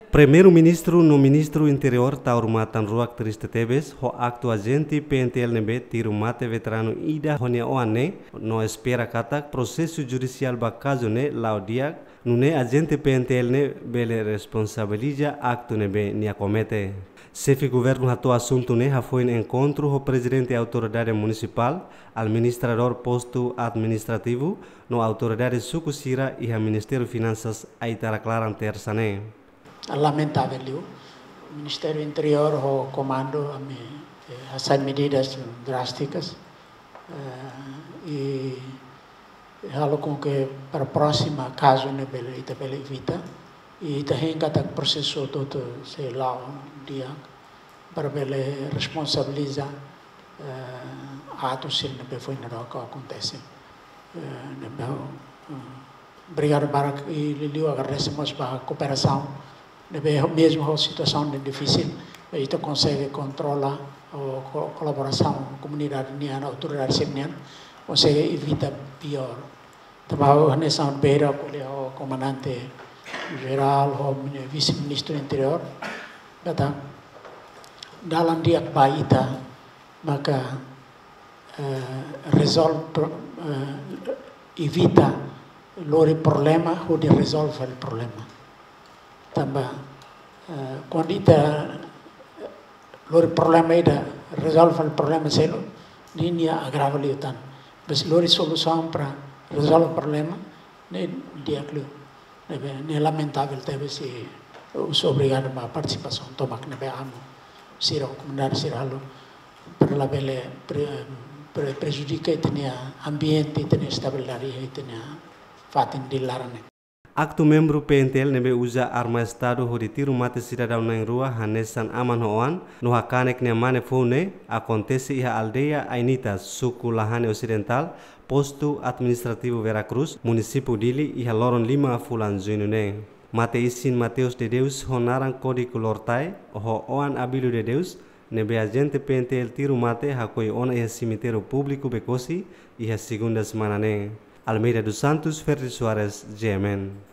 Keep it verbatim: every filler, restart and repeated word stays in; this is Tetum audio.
Primeiru-Ministru no Ministru Interiór taur matan-ruak triste tebes ho aktu ajente P N T L ne'ebé tiru mate veteranu ida ho nia oan ne'e, no espera katak prosesu judisiál ba kazu ne'e la'o di'ak, nune'e ajente P N T L ne'e bele responsabiliza aktu ne'ebé nia komete. Xefe Governu hato'o asuntu ne'e hafoin enkontru ho Prezidente Autoridade Munisipál, Administradór Postu Administrativu, no autoridade suku sira iha Ministériu Finansas Aitarak laran Tersa ne'e. Lamentavel liu. Ministériu Interiór ho komandu ami, eh, hasai medidas drástikas, eh, i halo com que para próxima kazu ne'e bele, ita bele evita. I ita hein katak prosesu hotu-hotu sei la'o di'ak para bele responsabiliza, eh, atu sira ne'ebé foin daudauk akontese. Eh, ne'ebé, eh, obrigadu barak i liuliu agradese mós ba kooperasaun ne'ebé mezmu ho situasaun ne'e difisil, ita konsege kontrola ho ko-, kolaborasaun komunidade nian, autoridade sira nian, konsege evita piór. Tanba ha'u hanesan beira ko'alia ho Komandante Jerál, ho mini-, Vise-Ministru Interiór, katak dalan di'ak ba ita maka, eh, rezolve pro-, eh, evita lori problema hodi rezolve fali problema. Tanba, eh, kuandu ita lori problema ida, rezolve fali problema seluk, ne'e nia agrava liután. Mas lori solusaun para rezolve problema, ne'e di'ak liu. Ne'ebé, ne'e lamentavel tebes i, eh, obrigadu ba partisipasaun tomak ne'ebé amu sira ho komunidade sira halo para labele pre-, pre-, prejudika ita-nia ambiente, ita-nia estabilidade, ita-nia fatin di laran ne'e. Aktu membru P N T L ne'ebé uza arma Estadu hodi tiru mate sidadaun na'in-rua hanesan aman ho oan, no hakanek nia mane foun ne'e, akontese iha aldeia Ainitas, suku Lahane Osidentál, Postu Administrativu Vera Cruz, Munisípiu Dili, iha loron lima fulan Juñu ne'e. Mate isin Mateus de Deus ho naran kódigu Lortai, ho oan Abílio de Deus, ne'ebé ajente P N T L tiru mate hakoi ona iha semitériu públiku Bekosi, iha segunda semana ne'e. Almeida dos Santos, Ferdi Soares, G M N.